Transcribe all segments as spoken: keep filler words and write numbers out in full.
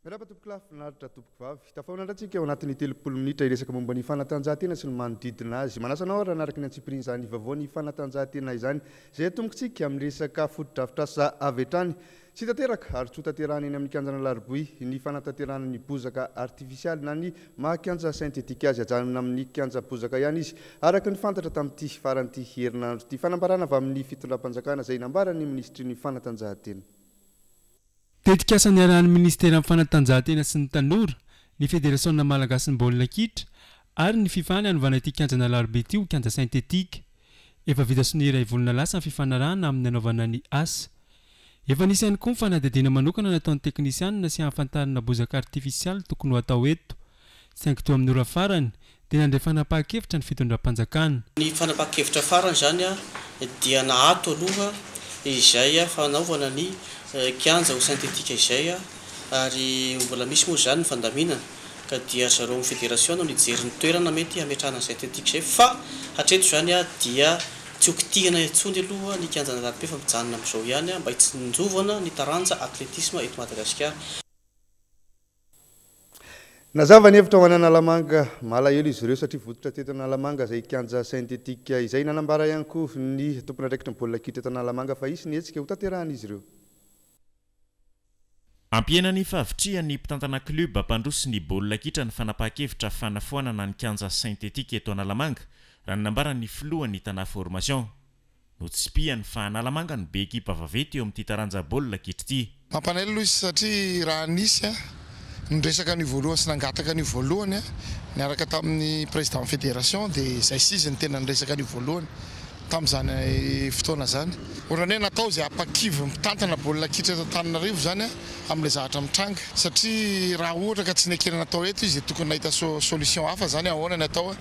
Miarahaba tompokolahy, finaritra tompokovavy. Tafahaona indray tsika ao anatin'ny telopolo minitra hiresaka momba ny fanatanjahantena sy ny manodidina azy. Manasa anao raha hanaraka ny antsipirian'izany vaovao ny fanatanjahantena izany, izay atombokontsika amin'ny resaka fotodrafitrasa avy hatrany. Tsy tanteraka ary tsy ho tanterahana eny amin'ny kianjan'Alarobia ny fanatanterahana ny bozaka artifisialy na ny maha kianja sentetika azy. Ajanona amin'ny kianja bozaka ihany izy, araka ny fantatra tamin'ity faran'ity herinandro ity. Fanambarana avy amin'ny fitondram-panjakana izay nambaran'ny minisitry ny fanatanjahantena. Tetikasa niarahan'ny ministeran'ny fanatanjahantena sy ny tanora, ny federasiona malagasin'ny baolina kitra ary ny FIFA ny hanovana ity kianjan'Alarobia ity ho kianja sentetika. Efa vita sonia iray volana lasa ny fifanarahana amin'ny hanaovana ny asa. Efa nisy ihany koa ny fanadihadiana manokana nataon'ny teknisianina sy hahafantarana bozaka artifisialy tokony ho atao eto. Saingy teo amin'ny ora farany dia nandray fanapahan-kevitra ny fitondram-panjakana. Ny fanapahan-kevitra farany izany dia naato aloha izay fanaovana ny kianja ho sentetika izay, ary mbola misy moa izany ny fandaminana ka dia zareo amin'ny federation no nijery ny toerana mety hametrahana ny sentetika izay, fa hatreto izany dia tsy ho kitihana intsony aloha ny kianjan'Alarobia fa mijanona amin'izao ihany mba hitsinjovana ny taranja atletisme eto Madagasikara. Nazava ny hevitra ho an'Analamanga, malahelo izy ireo satria vototra teto Analamanga izay kianja sentetika izay. Nanambara ihany koa ny tompon'andraikitra ny baolina kitra eto Analamanga fa hisy ny hetsika ho tanterahan'izy ireo. Ampihena ny fahavitrihan'ny mpitantana club mpandroso ny baolina kitra ny fanapahan-kevitra fanafoanana ny kianja sentetika eto Analamanga, raha ny nambaran'ny filohan'ny Tana Formation. Notsipihany fa Analamanga no be ekipa vaventy eo amin'ity taranja baolina kitra ity. Mampalahelo aloha izy satria raha nisy niresaka ny voalohany sy nangataka ny voalohany niaraka tamin'ny président fédération dia izay sy izy ny tena niresaka ny voalohany tamin'izany fotoana izany. Ohatran'ny hoe natao izay hampakivy mpitantana baolina kitra eto Antananarivo izany amin'ilay zavatra mitranga, satria raha ohatra ka tsy nekena natao eto izy dia tokony nahita solution hafa izany ahoana ny atao,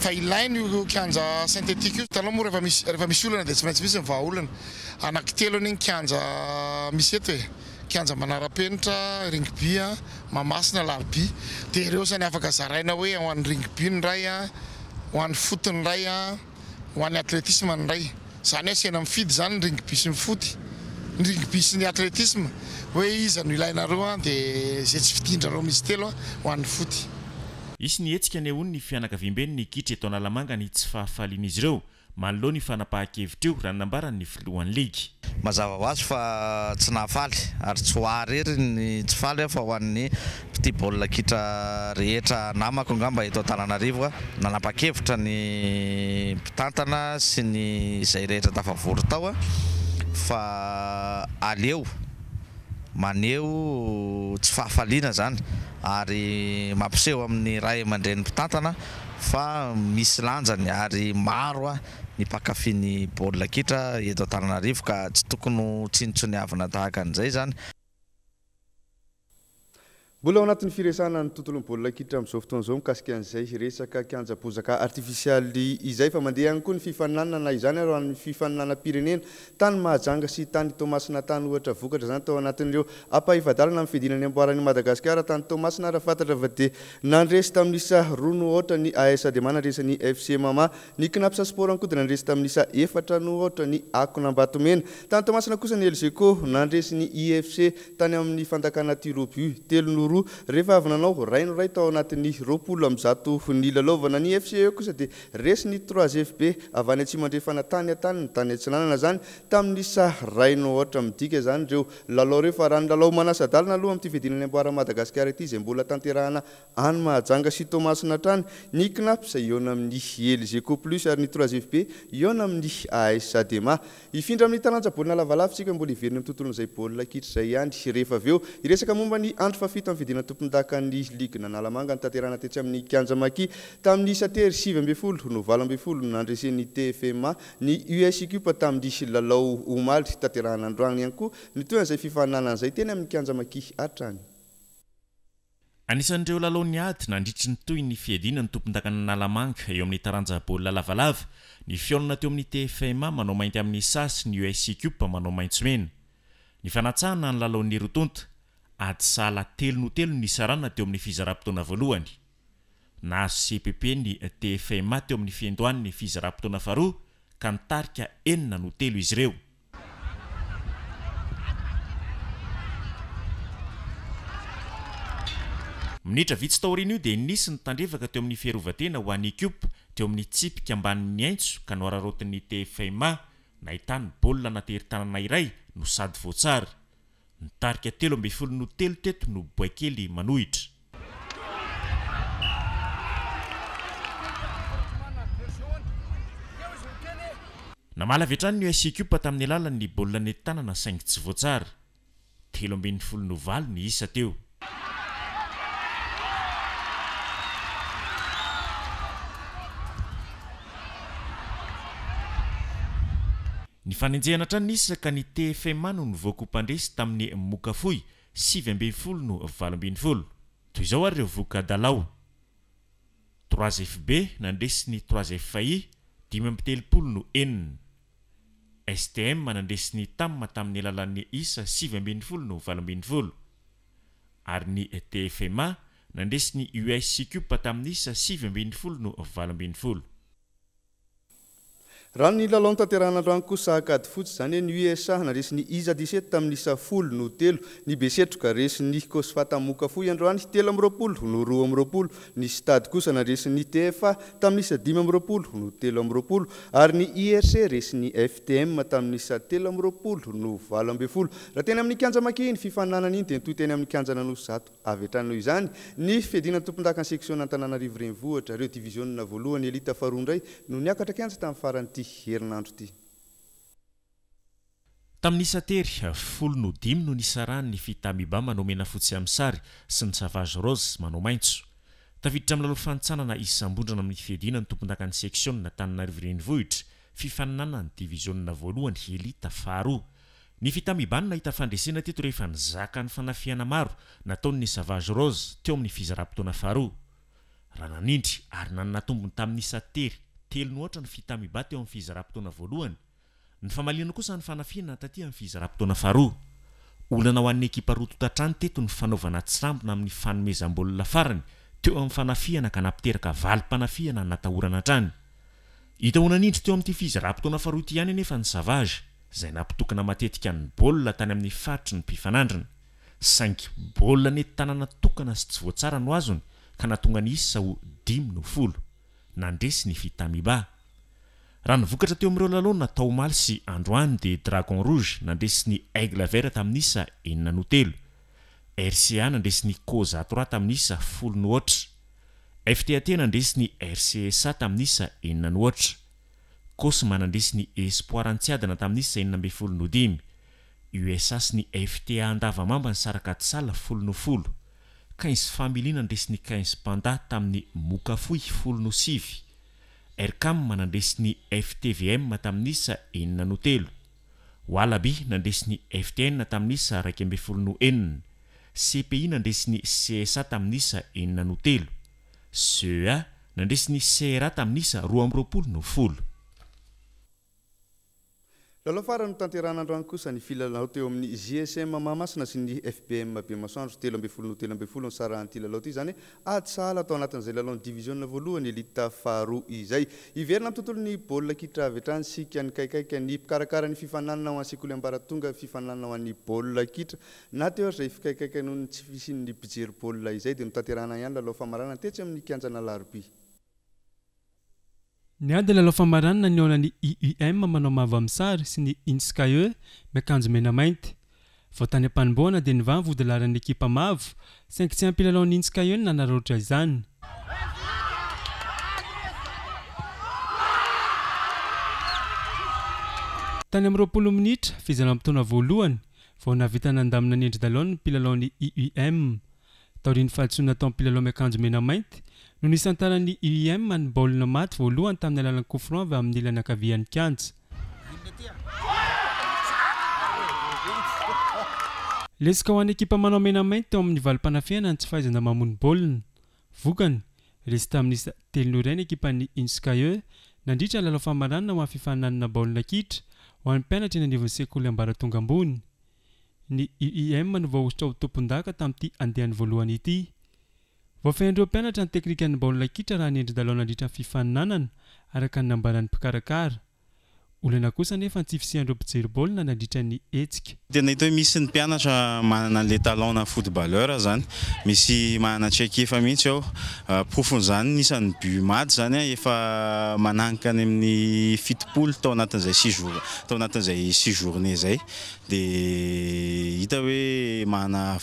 fa ilaina io kianja synthétique io. Hitanao moa rehefa misy rehefa misy olana dia tsy maintsy misy ny vahaolana. Anankitelo anie ny kianja misy eto e, kianja manara-penitra, rugby, Mahamasina, Alarobia, dia ireo izany afaka zaraina hoe ho an'ny rugby ny iray, ho an'ny foot ny iray, ho an'ny atletisme ny iray. Izany hoe asiana mifidy izany ny rugby sy ny foot, ny rugby sy ny atletisme, hoe iza no ilainareo, dia izay tsy fidindrareo misy telo ho an'ny foot. Hisy ny hetsika anehoan'ny fianakaviamben'ny kitra eto Analamanga ny tsy fahafalian'izy ireo manoloana io fanapahan-kevitra io, raha ny nambaran'ny filohan'ny ligy. Mazava ho azy fa tsy nahafaly ary tsy ho ahy irery ny tsy faly fa ho an'ny mpitia baolina kitra rehetra namako angamba eto Antananarivo. Nanapa-kevitra ny mpitantana sy ny izay rehetra tafavory tao fa aleo maneho tsy fahafaliana izany ary mampiseho amin'ny ray aman-drenin'ny mpitantana fa misy lanjany ary maro ny mpankafy ny baolina kitra eto Antananarivo ka tsy tokony ho tsinontsiniavina tahaka an'izay izany. Mbola ao anatin'ny firesahana ny tontolon'ny baolina kitra amin'izao fotoana izao mikasika an'izay resaka kianja bozaka artifisialy izay, fa mandeha ihany koa ny fifaninanana izany ary ho an'ny fifaninanam-pirenena tany Mahajanga sy tany Toamasina tany. Ohatra vokatra izany tao anatin'ireo ampahefa-dalana amin'ny fiadiana ny amboaran'i Madagasikara tany Toamasina, raha fantatra fa dia nandresy tamin'ny isa roa no aotra ny A S Adema, nandresy ny F C Mama. Ny Cnaps Sport ihany koa dia nandresy tamin'ny isa efatra no aotra ny Akon'Ambatomena. Tany Toamasina kosa ny Elgeco nandresy ny I F C tany amin'ny fandakana tirobu telo no roa rehefa avy nanao ray no ray tao anatin'ny roapolo amby zato ny lalaovana. Ny F C E kosa dia resy ny trois F B avy any Atsimo-Andrefana tany an-taniny tany Atsinanana izany tamin'ny isa ray no aotra. Midika izany ireo lalao ireo fa raha ny lalao manasa-dalana aloha amin'ity fiadiana ny amboaran'i Madagasikara ity izay mbola tanterahana any Mahajanga sy Toamasina hatrany, ny Cnaps hihaona amin'ny Elgeco Plus ary ny trois F B hihaona amin'ny A S Adema. Hifindra amin'ny taranja baolina lavalava isika, mbola hiverina amin'ny tontolon'izay baolina kitra izay ihany rehefa avy eo. Hiresaka momba ny andro fahafito amin'ny fiadiana tompondakan'ny ligue Analamanga notanterahana tetsy amin'ny kianja Maki tamin'ny isa tery sivy ambin'ny folo no valo ambin'ny folo nandresen'ny T F M A ny U S I Cup tamin'ny lalao omaly. Tanterahana androany ihany koa ny tohin'izay fifaninanana izay teny amin'ny kianja Maki hatrany. Anisan'ireo lalao niady nandritry ny toy ny fiadiana ny tompondakan'Analamanga eo amin'ny taranja baolina lavalava, ny fihaonana teo amin'ny T F M A manao mainty amin'ny S A sy ny U S I Cup manao maitso mena. Ny fanatsahana ny lalaon'ny roa tonta, ady sahala telo no telo ny sarana teo amin'ny fizaram-potoana voalohany. Nahazo C P P ny T F M A teo amin'ny fiandohan'ny fizaram-potoana faharoa ka nitarika enina no telo izy ireo. Minitra vitsy taorian'io dia nisy ny tandrevaka teo amin'ny fiarovan-tena ho an'ny Ikopa teo amin'ny tsipika ambanin'ny aintso ka noararaotin'ny T F M A nahitany baolina natery-tanana iray no sady voatsara. Nitarika telo ambin'ny folo no telo teto no boaikely manohitra. Namaly avy hatrany ny U S Ikopa tamin'ny alalan'ny baolina nentin-tanana saingy tsy voatsara. Telo ambin'ny folo no valo ny isa teo. Ny fanenjehana hatrany ny isa ka ny T F M A no nivoaka ho mpandresy tamin'ny moka fohy sivy ambin'ny folo no valo ambin'ny folo. Toy izao ary ireo voka-dalao. trois F B nandresy ny trois F I dimy amby telopolo no enina. S T M nandresy ny T A M tamin'ny alalan'ny isa sivy ambin'ny folo no valo ambin'ny folo. Ary ny T F M A nandresy ny U S Ikopa tamin'ny isa sivy ambin'ny folo no valo ambin'ny folo. Raha ny lalao notanterahina androany kosa Ankadifotsy izany hoe ny U S A nandresy ny I S A dix-sept tamin'ny isa folo no telo, ny Besetroka resy ny Cosfa tamin'ny moka fohy androany telo amby roapolo no roa amby roapolo, ny Stade kosa nandresy ny T F A tamin'ny isa dimy amby roapolo no telo amby roapolo ary ny I R C resy ny F T M tamin'ny isa telo amby roapolo no valo ambin'ny folo. Raha teny amin'ny kianja Maki iny fifaninanana iny dia nitohy teny amin'ny kianja Anosizato avy hatrany noho izany ny fiadiana tompon-dakan'ny section Antananarivo Renivohitra ireo diviziona voalohany elita faharoa indray no niakatra kianja tamin'ny faran'ity herinandro ity. Tamin'ny isa tery folo no dimy no nisarahan'ny Fitamiba manao mena fotsy amin'ny sary sy ny Savage Rose manao maitso. Tafiditra amin'ny lalao fanintsanana isam-bondrona amin'ny fiadiana ny tompon-dakan'ny section Antananarivo Renivohitra fifaninanana ny diviziona voalohany elita faharoa. Ny Fitamiba no nahita fandresena teto rehefa nizaka ny fanafihana maro nataon'ny Savage Rose teo amin'ny fizaram-potoana faharoa. Raha nanindry ary nanana tombony tamin'ny isa tery telo no aotra ny Fitamiba teo amin'ny fizaram-potoana voalohany. Ny famaliana kosa ny fanafihana taty amin'ny fizaram-potoana faharoa. Olana ho an'ny ekipa roa tonta hatrany teto ny fanaovana tsirambina amin'ny fanomezam-baolina farany teo amin'ny fanafihana ka nampiteraka valim-panafihana natahorana hatrany. Hita ho nanindry teo amin'ity fizaram-potoana faharoa ity ihany anefa ny Savage izay nampitokana matetika ny baolina tany amin'ny faritry ny mpifanandrina. Saingy baolina nentin-tanana tokana sy tsy voatsara no azony ka nahatonga ny isa ho dimy no folo. Nandresy ny Fitamiba. Raha ny vokatra teo amin'ireo lalao natao omaly sy androany dia Dragon Rouge nandresy ny Aigle Vert tamin'ny isa enina no telo. R C A nandresy ny Cosa trois tamin'ny isa folo no aotra. F T A T nandresy ny R C S A tamin'ny isa enina no aotra. Cosma nandresy ny Espoir Antsiadana tamin'ny isa enina ambin'ny folo no dimy. U S A sy ny F T A Andavamamba nisaraka ady folo no folo. Quinze Family nandresy ny Quinze Panda tamin'ny moka fohy folo no sivy. R C A M nandresy ny F T V M tamin'ny isa enina no telo. Wallaby nandresy ny F T N tamin'ny isa iraika ambin'ny folo no enina. C P I nandresy ny C S A tamin'ny isa enina no telo. C E A nandresy ny C R A tamin'ny isa roa amby roapolo no folo. Lalao farany notanterahina androany kosa ny filalao teo amin'ny J S M Mahamasina sy ny F B M Bemasoandro telo ambin'ny folo no telo ambin'ny folo nisarahan'ity lalao ity izany hoe ady sahala tao anatin'izay lalao ny diviziona voalohany elita faharoa izay. Hiverina amin'ny tontolon'ny baolina kitra avy hatrany isika nikaikaika ny mpikarakara ny fifaninanana ho an'ny sekoly ambaratonga fifaninanana ho an'ny baolina kitra na teo aza izay fikaikaika noho ny tsy fisian'ny mpijery baolina izay dia notanterahina ihany lalao famaranana tetsy amin'ny kianjan'Alarobia. Niady lalao famaranana ny nihaonan'ny I U M manao mavo amin'ny sary sy ny I N S K E miakanjo mena mainty. Vao tany am-panombohana dia nivaha ny vodilaharan'ny ekipa mavo saingy tsy ampy lalao ny I N S K E no nanararaotra izany. Tany amin'ny roapolo minitra fizaram-potoana voalohany vao nahavita nandamina ny endri-dalao ny mpilalao ny I U M. Taorian'ny fahadisoana nataon'ny mpilalao miakanjo mena mainty no nisantaran'ny I U M ny baolina maty voalohany tamin'ny alalan'ny coup franc avy amin'ny ilany ankavian'ny kianja. Lesoka ho an'ny ekipa manao mena mainty teo amin'ny valim-panafihana ny tsy fahaizana mamono baolina. Vokany, resy tamin'ny isa telo no iray ny ekipan'ny I N S K E nandritra ny lalao famaranana ho an'ny fifaninanana baolina kitra ho an'ny mpianatra eny anivon'ny sekoly ambaratonga ambony. Ny I U M no voahosotra ho tompon-daka tamin'ity andiany voalohany ity. Voafehin'ireo mpianatra ny teknikan'ny baolina kitra raha ny endri-dalao nandritra ny fifaninanana araka ny nambaran'ny mpikarakara. Olana kosa nefa ny tsy fisian'ireo mpijery baolina nandritra ny hetsika. Tena hita hoe misy ny mpianatra manana an'ilay talent na footballeur zany, misy manana traikefa mihitsy ao. Porofon'izany ny isan'ny but maty zany efa mananika any amin'ny fitopolo tao anatin'izay six jours, tao anatin'izay six journée zay. Dia hita hoe manana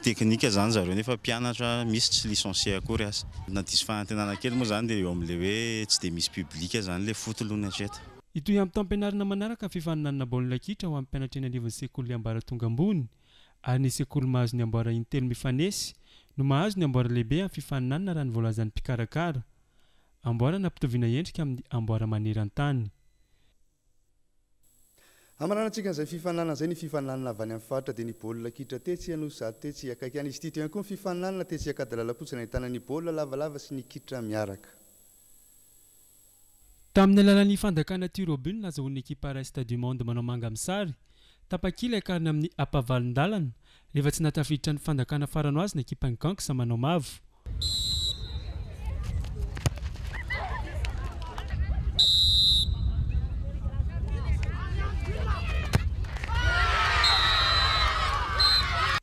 teknika zany zareo nefa mpianatra misy tsy licencié akory aza. Na diso fanantenana kely moa zany dia eo amin'ilay hoe tsy dia misy public zany ilay foot aloha ny hatreto. Hitohy amin'ny taom-pianarana manaraka ny fifaninanana baolina kitra ho an'ny mpianatra eny anivon'ny sekoly ambaratonga ambony ary ny sekoly mahazo ny amboara intelo mifanesy no mahazo ny amboara lehibe amin'ny fifaninanana raha ny voalazan'ny mpikarakara. Amboara nampitoviana endrika amin'ny amboara maneran-tany. Hamaranantsika an'izay fifaninanana izay ny fifaninanana avy any amin'ny faritra dia ny baolina kitra tetsy Anosizato tetsy akaiky any izy ity. Teo ihany koa ny fifaninanana tetsy Ankadilalampotsy nahitana ny baolina lavalava sy ny kitra miaraka. Tamin'ny alalan'ny fandakana tir au but nazahoan'ny ekipa Reste du Monde manao manga amin'ny sary, tapakila hiakarina amin'ny ampavalon-dalana rehefa tsy nahatafiditra ny fandakana farany ho azy ny ekipan'ny Ganks manao mavo.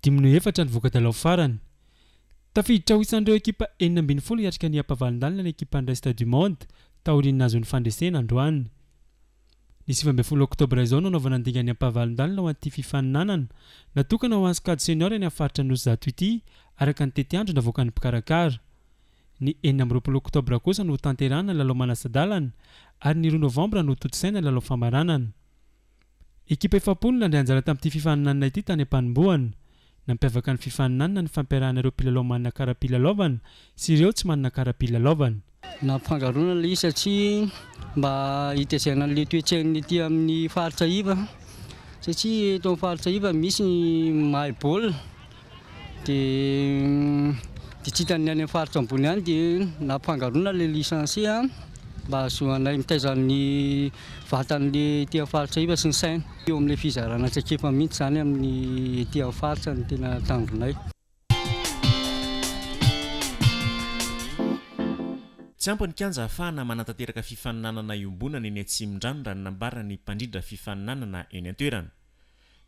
Dimy no efatra ny voka-dalao farany. Tafiditra ho isan'ireo ekipa enina ambin'ny folo hiatrika ny ampavalon-dalana ny ekipan'ny Reste du Monde taorian'ny nahazoany fandresena androany. Ny sivy ambin'ny folo oktobra izao no nanaovana ny dingan'ny ampavalon-dalana ho an'ity fifaninanana natokana ho an'ny sokajy senior eny amin'ny faritra Anosizato ity araka ny tetiandro navoakan'ny mpikarakara. Ny enina amby roapolo oktobra kosa no hotanterahana ny lalao manasa-dalana ary ny roa novambra no hotontosaina ny lalao famaranana. Ekipa efapolo no nandray anjara tamin'ity fifaninanana ity tany am-panombohana. Nampiavaka ny fifaninanana ny fampiarahana ireo mpilalao manana kara-pilalaovana sy ireo tsy manana kara-pilalaovana. Nampifangaroana ilay izy satria mba hitaizana an'ilay toe-tsain'ny aty amin'ny faritra iva, satria eto amin'ny faritra iva misy ny mahay baolina dia dia tsy hitan'ny any amin'ny faritra ambony any, dia nampifangaroana ilay licencié mba hahazoanay mitaiza ny vatan'ilay aty amin'ny faritra iva sy ny saina. Eo amin'ilay fizarana traikefa mihitsy izany amin'ny aty amin'ny faritra no tena tanjonay. Tsy ampy ny kianja ahafahana manatanteraka fifaninanana iombonana eny Atsimondrano raha ny nambaran'ny mpandrindra fifaninanana eny an-toerana.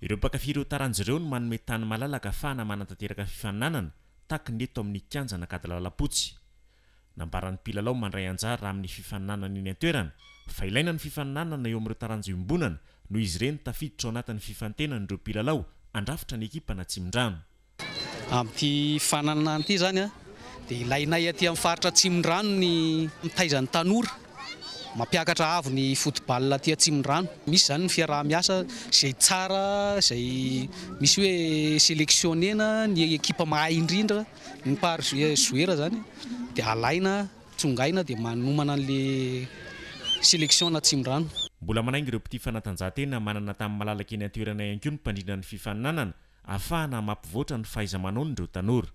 Ireo mpankafy ireo taranja ireo no manome tany malalaka ahafahana manatanteraka fifaninanana tahaka ny eto amin'ny kianja Ankadilalampotsy. Nambaran'ny mpilalao mandray anjara amin'ny fifaninanana eny an-toerana fa ilaina ny fifaninanana eo amin'ireo taranja iombonana noho izy ireny tafiditra ao anatin'ny fifantenan'ireo mpilalao andrafitra ny ekipa an'Atsimondrano. Amin'ity fifaninanana ity zany a, dia ilainay aty amin'ny faritra Atsimondrano ny mitaiza ny tanora, mampiakatra avo ny football aty Atsimondrano. Misy zany ny fiaraha-miasa izay tsara, izay misy hoe sélectionnena ny ekipa mahay indrindra, ny par joueur zany dia alaina, tsongaina dia manomana an'le sélection an'Atsimondrano. Mbola manainga ireo mpitia fanatanjahantena manana tamin'ny malalaka eny an-toerana ihany koa ny mpandrindra ny fifaninanana ahafahana mampivoatra ny fahaiza-manaon'ireo tanora.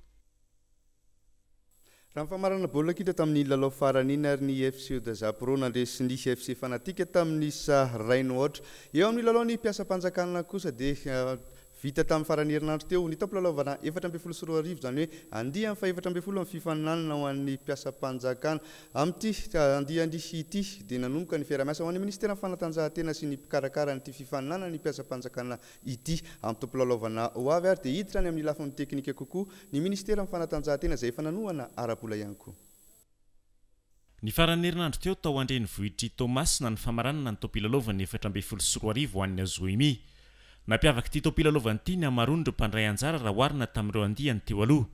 Raha ny famarana baolina kitra tamin'ny lalao farany iny ary ny F C Dazapro nandresy ny F C Fanatika tamin'ny isa iray no aotra. Eo amin'ny lalao ny mpiasam-panjakana kosa dia vita tamin'ny faran'ny herinandro teo ny taom-pilalaovana efatra ambin'ny folo sy roa arivo, izany hoe andiany fahefatra ambin'ny folo amin'ny fifaninanana ho an'ny mpiasam-panjakana. Amin'ity andiany ity dia nanomboka ny fiaraha-miasa ho an'ny ministeran'ny fanatanjahantena sy ny mpikarakara an'ity fifaninanana ny mpiasam-panjakana ity amin'ny taom-pilalaovana ho avy, ary dia hiditra any amin'ny lafiny teknika kokoa ny ministeran'ny fanatanjahantena izay efa nanohana ara-bola ihany koa. Ny faran'ny herinandro teo tao an-drenivohitr'i Toamasina ny famaranana ny taom-pilalaovana efatra ambin'ny folo sy roa arivo ho an'ny Azoemi. Nampiavaka ity taom-pilalaovana ity ny hamaroan'ireo mpandray anjara raha oharina tamin'ireo andiany teo aloha.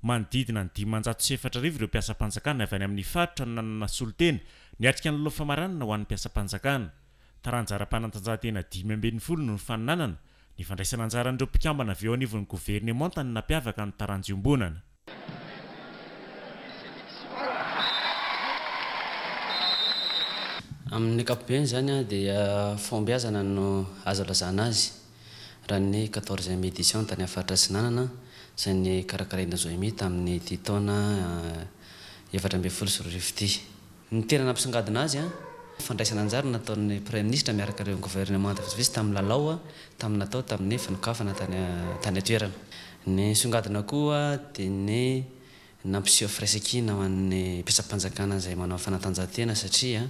Manodidina ny dimanjato sy efatra arivo ireo mpiasam-panjakana avy any amin'ny faritra no nanana solontena niatrika ny lalao famaranana ho an'ny mpiasam-panjakana. Taranja ara-panatanjahantena dimy ambin'ny folo no nifaninanana, ny fandraisana anjaran'ireo mpikambana avy eo anivon'ny governemanta no nampiavaka ny taranja iombonana. Amin'ny ankapobeny zany a, dia fahombiazana no azo lazana azy. Raha ny quatorzième édition tany amin'ny faritra Atsinanana izay ny karakaraina Zoemi tamin'ny ity taona efatra ambin'ny folo sy roa arivo ity. Ny tena nampisongadina azy a, fandraisana anjara nataon'ny Premier ministre miaraka ireo gouvernement vitsivitsy tamin'ny lalao a, tamin'ny natao tamin'ny fanokafana tany, tany an-toerana. Ny songadina koa dia ny nampiseho firaisankina ho an'ny mpiasam-panjakana izay manao fanatanjahantena satria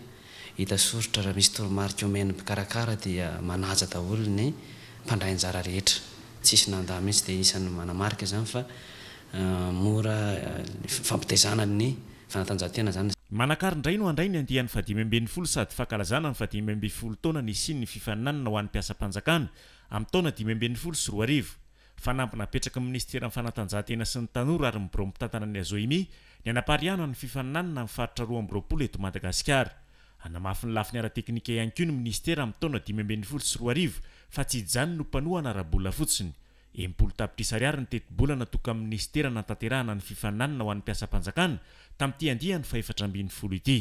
Hita soritra raha misy toromarika omen'ny mpikarakara dia manaja daholo ny mpandray anjara rehetra, tsisy nanda mihitsy. Dia isan'ny manamarika zany fa mora fampitaizana ny fanatanjahantena zany. Manakary indray no handray ny andiany fahadimy ambin'ny folo sady fankalazana ny fahadimy ambin'ny folo taona nisian'ny fifaninanana ho an'ny mpiasam-panjakana amin'ny taona dimy ambin'ny folo sy roa arivo. Fanamby napetraka ny ministeran'ny fanatanjahantena sy ny tanora ary ny birao mpitantana ny AJOIMI ny anapariahana ny fifaninanana amin'ny faritra roa amby roapolo eto Madagasikara. Hanamafy ny lafiny ara-teknika ihany koa ny ministera amin'ny taona dimy ambin'ny folo sy roa arivo fa tsy hijanona no mpanohana ara-bola fotsiny. Enimpolo tapitrisa ariary ny tetibola natoka amin'ny ministera natanterahana ny fifaninanana ho an'ny mpiasam-panjakana tamin'ity andiany fahefatra ambin'ny folo ity.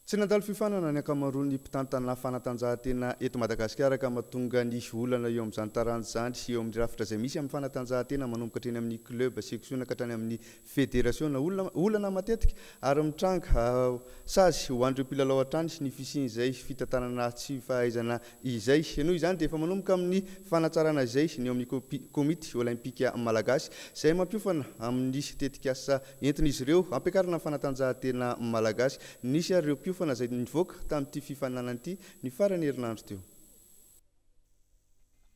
Tsy nandalo fiofanana ny ankamaroan'ny mpitantana fanatanjahantena eto Madagasikara ka mahatonga ny olana eo amin'izany taranja zany eo amin'ny rafitra izay misy amin'ny fanatanjahantena, manomboka hatreny amin'ny club, section ka hatrany amin'ny fédération. Olana olana matetika ary mitranga sazy ho an'ireo mpilalao hatrany ny fisian'izay fitantanana tsy fahaizana izay. Noho izany dia efa manomboka amin'ny fanatsarana izay ny eo amin'ny Komity Olympika Malagasy izay mampiofana amin'ny tetikasa entin'izy ireo ampiakarana ny fanatanjahantena malagasy. Nisy ary ireo mpiofana izay nivoaka tamin'ity fifaninanana ity ny farany herinandro teo.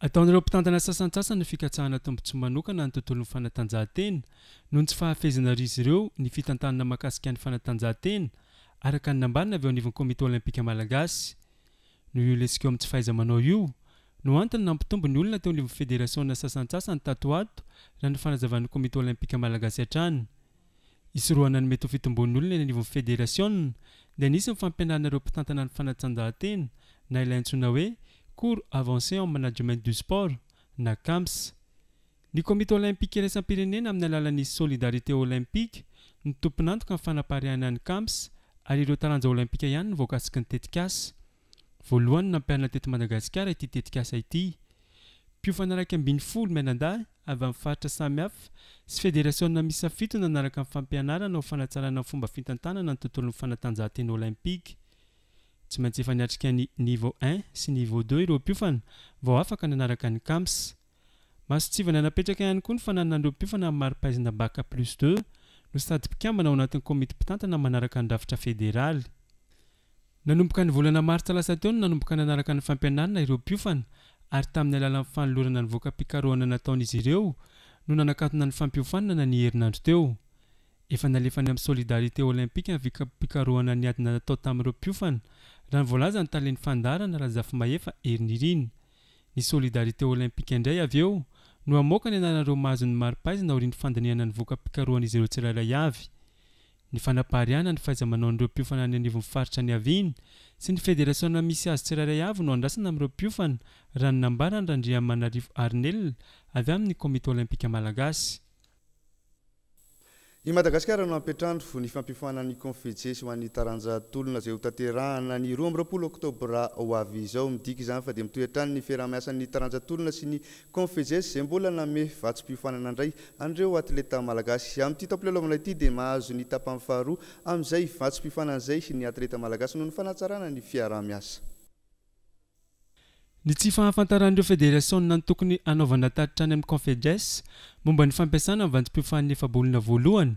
Ataon'ireo mpitantana sasantsasany ny fikatsahana tombontsoa manokana ny tontolon'ny fanatanjahantena noho ny tsy fahafehezana ry izy ireo ny fitantanana mahakasika ny fanatanjahantena, araka ny nambarana avy eo anivon'ny Komity Olympika Malagasy. Noho io lesika eo amin'ny tsy fahaiza-manao io no antony nampitombo ny olona teo anivon'ny federasiona sasantsasany tato ato, raha ny fanazavan'ny Komity Olympika Malagasy hatrany. Isorohana ny mety ho fitombon'ny olona eny anivon'ny federasiona dia nisy ny fampianarana ireo mpitantana ny fanatanjahantena na ilay antsoina hoe cours avancé en management du sport na CAMS. Ny Komity Olympika iraisam-pirenena amin'ny alalan'ny Solidarité Olympique ny tompon'antoka ny fanapariahana ny CAMS, ary ireo taranja olympika ihany no voakasiky ny tetikasa. Voalohany nampiharina teto Madagasikara ity tetikasa ity. Mpiofana iraika ambin'ny folo mianadahy avy amin'ny faritra samihafa sy federasiona miisa fito nanaraka ny fampianarana ho fanatsarana ny fomba fitantanana ny tontolon'ny fanatanjahantena olympika. Tsy maintsy efa niatrika ny niveau un sy niveau deux ireo mpiofana vao afaka nanaraka ny CAMS. Mason-tsivana napetraka ihany koa ny fananan'ireo mpiofana amin'ny mari-pahaizana bac plus deux no sady mpikambana ao anatin'ny komity mpitantana manaraka ny rafitra federaly. Nanomboka ny volana martsa lasa teo no nanomboka nanaraka ny fampianarana ireo mpiofana, ary tamin'ny alalan'ny fanolorana ny voka-pikarohana nataon'izy ireo no nanakatona ny fampiofanana ny herinandro teo. Efa nalefany amin'ny Solidarité Olympique ny voka-pikarohana ny adina natao tamin'ireo mpiofana, raha ny voalaza ny talen'ny fandaharana, Razafimahefa Herinirina. Ny Solidarité Olympique indray avy eo no hamoaka ny anaran'ireo mahazo ny mari-pahaizana aorian'ny fandinihana ny voka-pikarohan'izy ireo tsirairay avy. Ny fanapariahana ny fahaiza-manaon'ireo mpiofana any anivon'ny faritra niaviany sy ny federasiona misy azy tsirairay avy no andrasana amin'ireo mpiofana, raha ny nambarany Randriamanarivo Arnel avy amin'ny Komity Olympika Malagasy. I Madagasikara no hampiantrano ny fampiofanana ny Confejes ho an'ny taranja tolona izay ho tanterahana ny roa amby roapolo oktobra ho avy izao. Midika izany fa dia mitohy hatrany ny fiaraha-miasan'ny taranja tolona sy ny Confejes izay mbola nanome vatsim-piofanana indray an'ireo atleta malagasy. Amin'ity taom-pilalaovana ity dia mahazo ny tapany faharoa amin'izay vatsim-piofanana izay ny atleta malagasy noho ny fanatsarana ny fiaraha-miasa. Ny tsy fahafantaran'ireo federasiona ny tokony hanaovana tatitra any amin'ny Confejes momba ny fampiasana ny vatsim-piofanana efa-bolana voalohany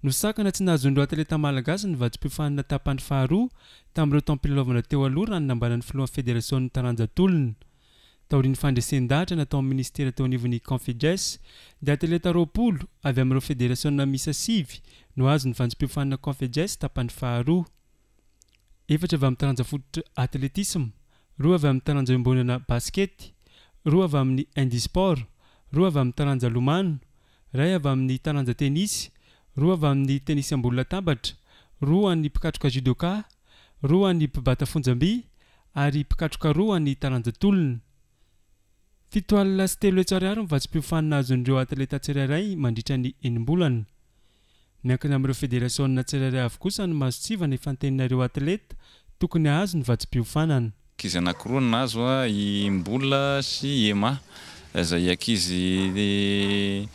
no sakana tsy nahazon'ireo atleta malagasy ny vatsim-piofanana tapany faharoa tamin'ireo taom-pilalaovana teo aloha, raha ny nambaran'ny filohan'ny federasion'ny taranja tolona. Taorian'ny fandresen-dahatra natao amin'ny ministera teo anivon'ny Confejes dia atleta roapolo avy amin'ireo federasiona miisa sivy no azo ny vatsim-piofanana Confejes tapany faharoa: efatra avy amin'ny taranja fototra atletisme, roa avy amin'ny taranja iombonana baskety, roa avy amin'ny handisport, roa avy amin'ny taranja lomano, ray avy amin'ny taranja tenisy, roa avy amin'ny tenisy ambony latabatra, roa an'ny mpikatroka judoka, roa an'ny mpibata fonjam-by ary mpikatroka roa an'ny taranja tolona. Fito alina sy telo hetsy ariary ny vatsim-piofanana azon'ireo atleta tsirairay mandritra ny enim-bolana. Miankina amin'ireo federasiona tsirairay avy kosa ny mason-tsivana ifantenina ireo atleta tokony hahazo ny vatsim-piofanana. Ankizy anankiroa no nahazo a, i Mbola sy Ema, izay ankizy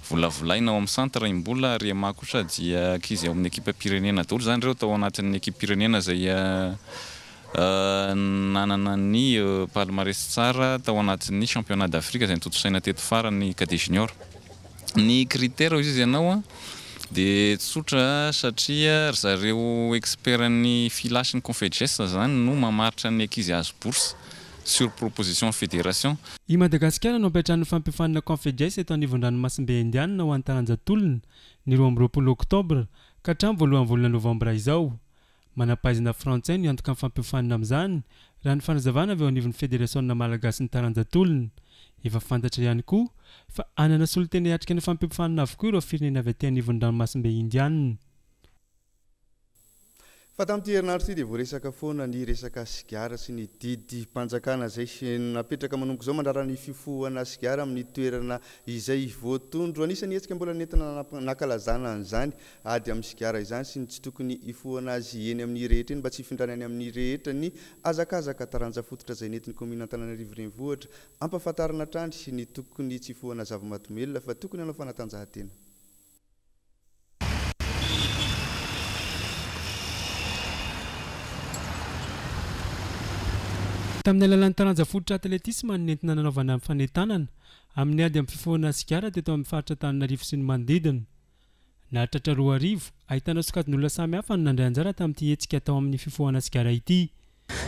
volavolaina ao amin'ny centre i Mbola, ary Ema kosa dia ankizy ao amin'ny ekipa-pirenena daholo zany ireo, tao anatin'ny ekipa-pirenena izay nanana ny palmarès tsara tao anatin'ny championnat d'Afrique izay notontosaina teto farany, cadet junior. Ny critère hoy izy ianao a, Dia tsotra satria ry zareo expert-n'ny FILA sy ny Confeges zany no mamaritra ny ankizy azo bourse sur proposition fédération. I Madagasikara no hampiantrano ny fampiofanana Confeges eto anivon-dranomasimbe Indianina ho an'ny taranja tolona ny roa amby roapolo oktobra ka hatramin'ny voalohan'ny volana novambra izao. Manam-pahaizana frantsay no hiantoka ny fampiofanana amin'izany raha ny fanazavana avy eo anivon'ny federasiona malagasy ny taranja tolona. Efa fantatra ihany koa fa hanana solontena hiatrika ny fampiofanana avokoa ireo firenena avy aty anivon'ny ranomasimbe Indianina. Fa tamin'ity herinandro ity dia voaresaka foana ny resaka sigara sy ny didim-panjakana izay napetraka manomboka izao mandrara ny fifohana sigara amin'ny toerana izay voatondro. Anisan'ny hetsika mbola nentina nankalazana an'izany ady amin'ny sigara izany sy ny tsy tokony hifohana azy eny amin'ny rehetra eny mba tsy hifindrany any amin'ny rehetra ny hazakazaka taranja fototra izay nentin'ny kaominina Antananarivo Renivohitra ampahafantarina hatrany ny tokony tsy hifohana zava-mahadomelina fa tokony hanao fanatanjahantena. Tamin'ny alalan'ny taranja fototra atletisma no nentina nanaovana ny fanentanana amin'ny ady amin'ny fifohana sigara teto amin'ny faritra Antananarivo sy ny manodidina. Nahatratra roa arivo ahitana sokajin'olona samy hafa no nandray anjara tamin'ity hetsika tao amin'ny fifohana sigara ity.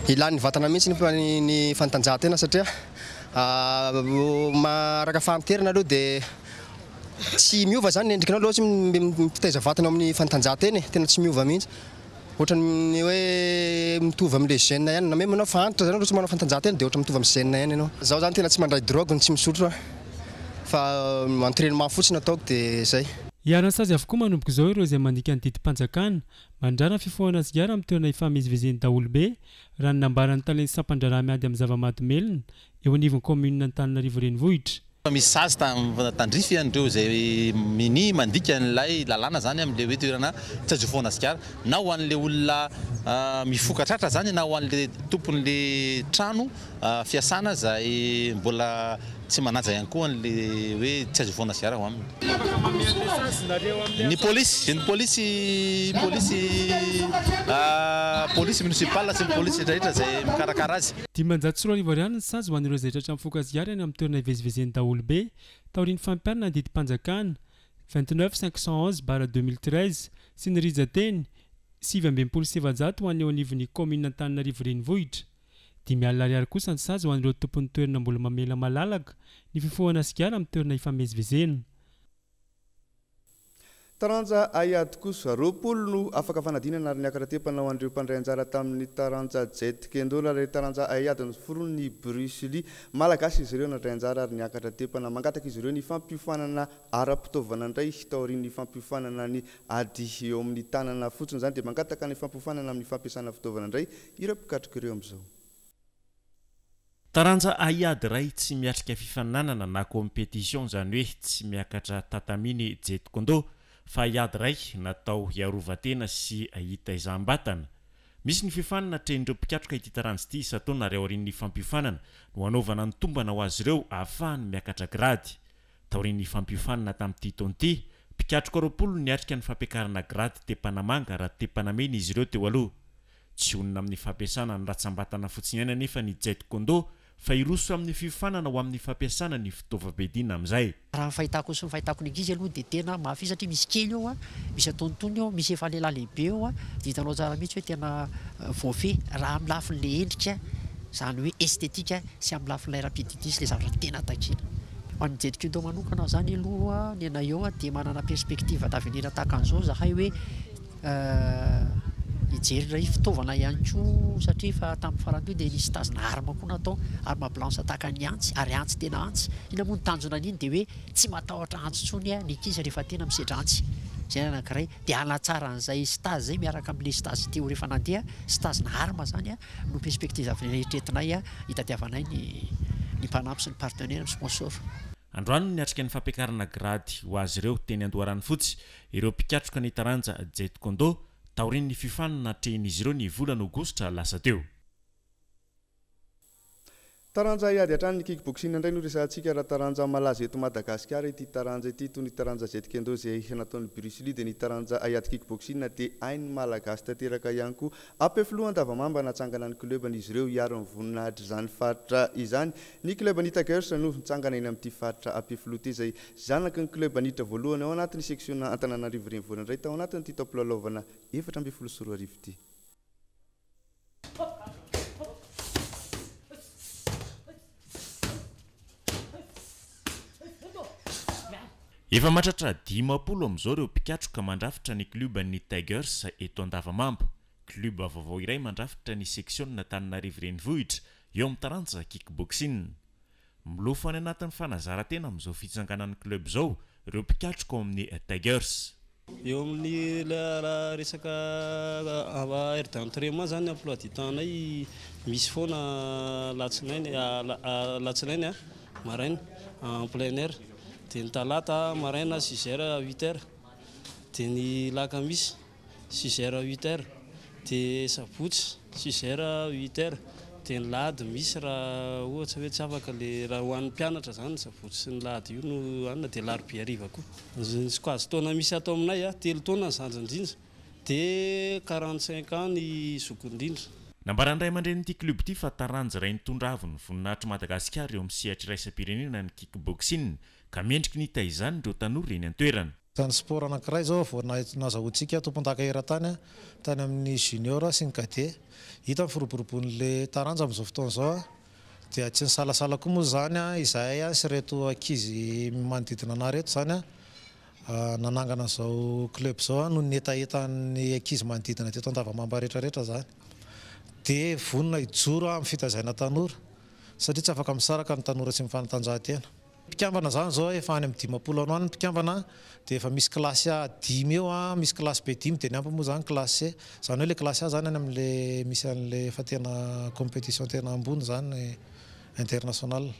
Ilain'ny vatana mihitsy ny, ny fanatanjahantena satria araka fahanterana aloha dia tsy miova zany ny endrikinao aloha tsy mitaiza vatana amin'ny fanatanjahantena, tena tsy miova mihitsy. Ohatran'ny hoe mitovy amin'ilay jeune ihany na même anao fa antitra zany aloha tsy manao fanatanjahantena dia ohatra mitovy amin'ny jeune ihany ianao. Zaho zany tena tsy mandray drogue, tsy misotro fa entraînement fotsiny ataoko dia zay. Iharan'ny sazy avokoa manomboka izao ireo izay mandika ny didim-panjakana mandrara ny fifohana sigara amin'ny toerana ifamezivezen'ny daholobe raha ny nambaran'ny talen'ny sampan-draharaha miady amin'ny zava-mahadomelina eo anivon'ny kaominina Antananarivo Renivohitra. Misy sazy tandrify an'ireo izay mini mandika an'ilay lalàna zany amin'ilay hoe toerana tsy azo ifohana sigara na ho an'ilay olona mifoka tratra zany na ho an'ilay tompon'ilay trano fiasana izay mbola tsy manaja ihany koa an'ilay hoe tsy azo ifohana sigara ho aminy. Ny polisy, ny polisy, polisy, polisy municipal sy ny polisy rehetra izay mikarakara azy. Dimanjato sy roa arivo ariary ny sazy ho an'ireo izay tratra mifoka sigara eny amin'ny toerana ivezivezen'ny daholobe taorian'ny fampiharana ny didim-panjakana vingt-neuf cinq cent onze barre deux mille treize sy ny rijan-teny sivy amby enimpolo sy efajato ho an'ny eo anivon'ny kaominina Antananarivo Renivohitra. Dimy alina ariary kosa ny sazy ho an'ireo tompon'ny toerana mbola mamela malalaka ny fifohana sigara amin'ny toerana ifamezivezena. Taranja haiady kosa roapolo no afaka fanadinana ary niakatra tepana ho an'ireo mpandray anjara tamin'ny taranja jet kendo ary taranja haiady noforon'ny Bruce Lee. Malagasy izy ireo nandray anjara ary niakatra tepana. Mangataka izy ireo ny fampiofanana ara-pitaovana indray taorian'ny fampiofanana ny ady eo amin'ny tanana fotsiny izany dia mangataka ny fampiofanana amin'ny fampiasana fitaovana indray ireo mpikatroka ireo amin'izao. Taranja haiady iray tsy miatrika fifaninanana na compétition izany hoe tsy miakatra tatami ny jet kendo fa haiady iray natao hiarovan-tena sy hitaizam-batana. Misy ny fiofanana atrehin'ireo mpikatroka ity taranja ity isan-taona ary aorian'ny fampiofanana no hanaovana ny tombana ho azy ireo ahafahany miakatra grady. Taorian'ny fampiofanana tamin'ity taona ity, mpikatroka roapolo no niatrika ny fampiakarana grady tepanamanga raha tepanamena izy ireo teo aloha. Tsy honina amin'ny fampiasana ny ratsam-batana fotsiny ihany anefa ny jet kendo fa hiroso amin'ny fiofanana ho amin'ny fampiasana ny fitaovam-piadiana amin'izay. Raha ny fahitako sy ny fahitako ny ankizy aloha dia tena mafy satria misy kely eo, misy antonontonony eo, misy efa lehilahy lehibe eo, dia hitanao tsara mihitsy hoe tena voafehy raha amin'ny lafin'ilay endrika, izany hoe estetika sy amin'ny lafin'ilay rapidité sy ilay zavatra tena takiana. Ho an'ny jet kendo manokana izany aloha ny anay eo dia manana perspective d'avenir tahaka an'izao zahay hoe hijery indray fitaovana ihany koa satria fa tamin'ny farany teo dia nisy tazona arme koa natao, arme blanche tahaka ny antsy ary antsy tena antsy. Inona moa ny tanjona an'iny dia hoe tsy matahotra antsy intsony ny ankizy rehefa tena misedra antsy. Izay ny anankiray dia hanatsara an'izay stage izay miaraka amin'ilay stage teo rehefa nandeha, stage na arme zany no perspective d'avenir eritreretinay hitadiavanay ny ny mpanampy sy ny partenaire, ny sponsor. Androany no niatrika ny fampiakarana grady ho azy ireo teny Andoharanofotsy ireo mpikatroka ny taranja jet kendo taorian'ny fiofanana natrehin'izy ireo ny volana aogositra lasa teo. Taranja hiady hatrany ny kickboxing indray no resahantsika. Raha taranja malaza eto Madagasikara ity taranja ity, toy ny taranja Jeet Kune Do izay nataon'ny Bruce Lee, dia ny taranja hiady kickboxing dia hain'ny Malagasy tanteraka ihany koa. Ampefiloha Andavamamba natsangana ny club-n'izy ireo hiaro ny voninahitra izany faritra izany. Ny club ny Tigers no nitsangana eny amin'ity faritra Ampefiloha ity, izay zanaky ny club niditra voalohany ao anatin'ny section Antananarivo Renivohitra indray tao anatin'ity taom-pilalaovana efatra ambin'ny folo sy roa arivo ity. Efa mahatratra dimampolo amin'izao ireo mpikatroka mandrafitra ny club ny Tigers eto Andavamamba. Club vaovao iray mandrafitra ny section Antananarivo Renivohitra eo amin'ny taranja kickboxing. Milofo any anatin'ny fanazaran-tena amin'izao fitsanganan'ny club izao ireo mpikatroka ao amin'ny Tigers. Eo amin'ny raha resaka heure d'entraînement zany, emploi du temps-nay misy foana latsinainy latsinainy a maraina en plein air, dia ny talata maraina six heures à huit heures, dia ny lakamisy six heures à huit heures, dia sabotsy six heures à huit heures, dia ny lahady misy raha ohatra hoe tsy afaka le raha ho an'ny mpianatra zany sabotsy sy ny lahady io no anina, dia alarobia hariva koa. Ny sokajy taona misy ato aminay a telo taona ny zandry indrindra, dia quarante cinq ans ny zokiny indrindra. Nambaran'ny ray aman-drenin'ity club ity fa taranja iray nitondra avo ny voninahitr'i Madagasikara eo amin'ny sehatra iraisam-pirenena ny kickboxing, ka mendriky ny hitaizany ireo tanora eny an-toerana. Ny sport anankiray izao vao nazahoantsika tompon-daka eran-tany tany amin'ny junior sy ny cadet. Hita ny firoborobon'ilay taranja amin'izao fotoana izao, dia tsy nisalasala koa moa izany izahay sy ireto ankizy manodidina anay ireto izany nanangana izao club izao noho ny hetahetan'ny ankizy manodidina teto Andavamamba rehetrarehetra izany. Dia vonona hijoro amin'ny fitaizana tanora satria tsy afaka misaraka ny tanora sy ny fanatanjahantena. Mpikambana izany izao efa any amin'ny dimampolo any ho any ny mpikambana, dia efa misy kilasy A dimy eo, misy kilasy B dimy, dia ny ampy moa izany kilasy C. Izany hoe ilay kilasy A izany any amin'ilay misy an'ilay efa tena compétition tena ambony izany international.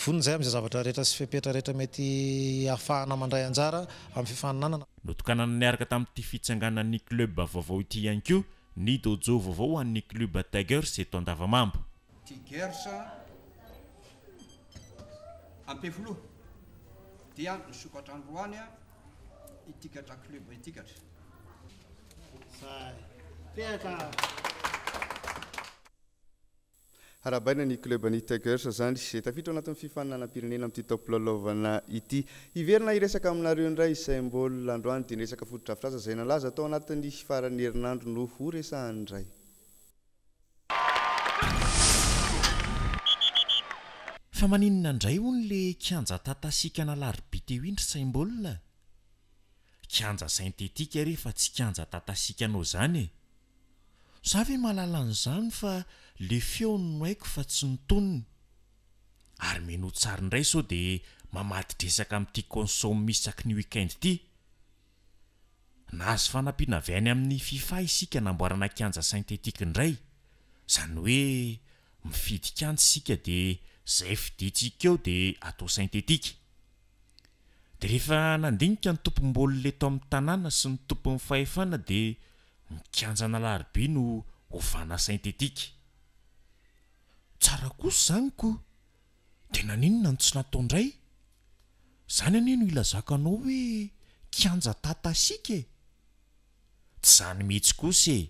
Vonona izay amin'izay zavatra rehetra sy fepetra rehetra mety ahafahana mandray anjara amin'ny fifaninanana. Notokanana niaraka tamin'ity fitsanganan'ny club vaovao ity ihany koa ny dojo vaovao ho an'ny club Tigers eto Andavamamba. Tigers Ampefiloha dia nisokatra androany itikatra club itikatra. Arahabaina ny club ny Tigers zany izay tafiditra ao anatin'ny fifaninanam-pirenena amin'ity taom-pilalaovana ity. Hiverina hiresaka aminareo indray izay mbola androany dia niresaka fotodrafitrasa izay nalaza tao anatin'ny faran'ny herinandro no ho resahany indray. Fa maninona indray hono le kianja tatasika an'Alarobia teo indry saim-baolina? Kianja synthétique re fa tsy kianja tatasika anao izany e. Za ve mahalala an'izany fa le feony no haiko fa tsy ny tonony. Ary mino tsara indray sao dia mamadi-dresaka amin'ity consomme isaky ny week-end ity. Nahazo fanampiana avy any amin'ny FIFA isika namboarana kianja synthétique indray. Izany hoe mifidy kianja isika dia izay fidintsika eo dia atao synthétique. Dia rehefa nandinika ny tompom-baolina eto amin'ny tanàna sy ny tompon'ny fahefana dia ny kianja an'Alarobia no ovana synthétique. Tsara kosa izany ko. Dia naninona no tsy natao indray? Izany anie no ilazako anao hoe kianja tatasika e. Tsy izany mihitsy kosa e.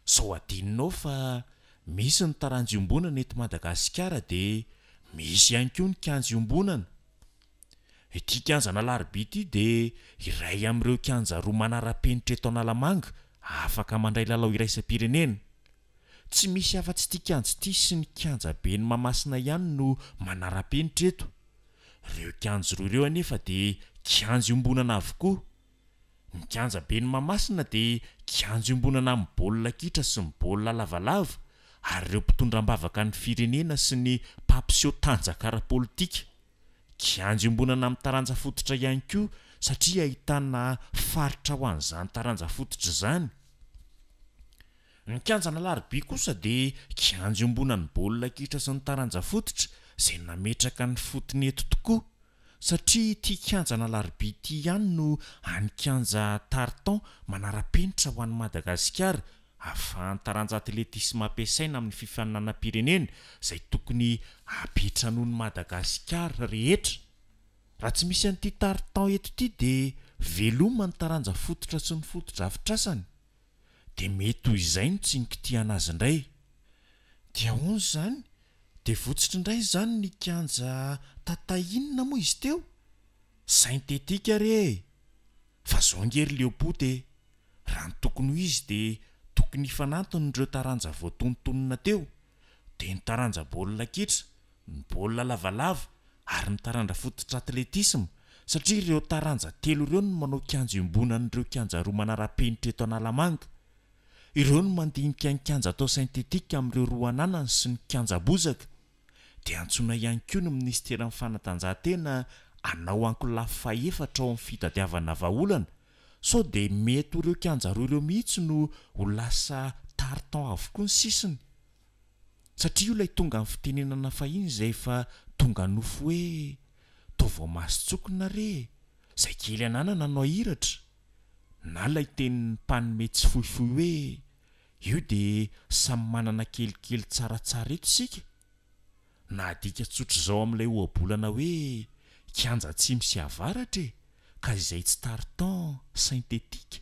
Sao adinonao fa misy ny taranja iombonana eto Madagasikara dia misy ihany koa ny kianja iombonana. Ity kianja an'Alarobia ity dia iray amin'ireo kianja roa manara-penitra eto Analamanga afaka mandray lalao iraisam-pirenena. Tsy misy afa-tsy ity kianja ity sy ny kianja be ny Mahamasina ihany no manara-penitra eto. Ireo kianja roa ireo anefa dia kianja iombonana avokoa. Ny kianja be ny Mahamasina dia kianja iombonana amin'ny baolina kitra sy ny baolina lavalava ary ireo mpitondra am-bavaka ny firenena sy ny mpampiseho tanjaka ara-politika. Kianja iombonana amin'ny taranja fototra ihany koa satria ahitana faritra ho an'izany taranja fototra izany. Ny kianja an'Alarobia kosa dia kianja iombonan'ny baolina kitra sy ny taranja fototra izay nametraka ny fotony eto tokoa satria ity kianja an'Alarobia ity ihany no any kianja tartan manara-penitra ho an'i Madagasikara ahafahan'ny taranja atletisma ampiasaina amin'ny fifaninanam-pirenena izay tokony hampiantranoan'i Madagasikara rehetra. Raha tsy misy an'ity tartan eto ity dia veloma ny taranja fototra sy ny fotodrafitrasany. Dia mety ho izay no tsy nikitihana azy indray. Dia ahoana izany? Dia votsotra indray izany ny kianja Tata inona moa izy teo? Synthétique re e! Fa zao ange ry Leopoty e! Raha ny tokony ho izy dia tokony hifanantona ireo taranja voatonontonona teo, dia ny taranja baolina kitra, ny baolina lavalava ary ny tarandra fototra atletisma, satria ireo taranja telo ireo no manao kianja iombonan'ireo kianja roa manara-penitra eto Analamanga. Ireo no mandinika ny kianja atao synthétique amin'ireo roa ananany sy ny kianja bozaka. Dia antsoina ihany koa ny minisiteran'ny fanatanjahantena hanao ankolafy fahefatra ao amin'ny fitadiavana vahaolana sao dia mety ho ireo kianja roa ireo mihitsy no ho lasa tartan avokoa ny sisiny. Satria io ilay tonga amin'ny fitenenana fahiny izay efa tonga nofo hoe toa voamason-tsokina re e! Izay kely ananana no ahiratra. Na ilay tenin'ny mpanome tsy fohifohy hoe io dia samy manana kelikely tsaratsara eto isika. Na adika tsotr'izao amin'ilay ohabolana hoe kianja atsimo sy avaratra e! Ka izay tsy tartan synthétique.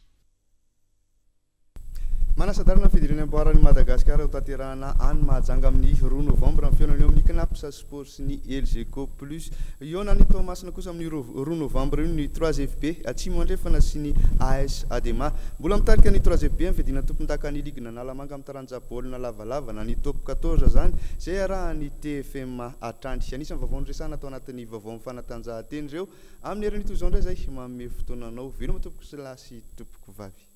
Manasa-dalana ny fidirana amboaran'i Madagasikara ho tanterahana any Mahajanga amin'ny roa novambra ny fihaonana eo amin'ny Cnaps Sport sy ny Elgeco Plus. Hihaona any Toamasina kosa amin'ny roa novambra io ny trois F B Atsimo Andrefana sy ny A S Adema. Mbola mitarika ny trois F B amin'ny fiadiana tompondakan'ny ligue Analamanga amin'ny taranja baolina lavalava na ny top quatorze zany izay arahan'ny T F M hatrany. Anisan'ny vaovao noresahana atao anatin'ny vaovao amin'ny fanatanjahantena ireo. Amin'ny herin'ny toy izao indray izay manome fotoananao. Veloma tompoko sy lahy sy tompoko vavy.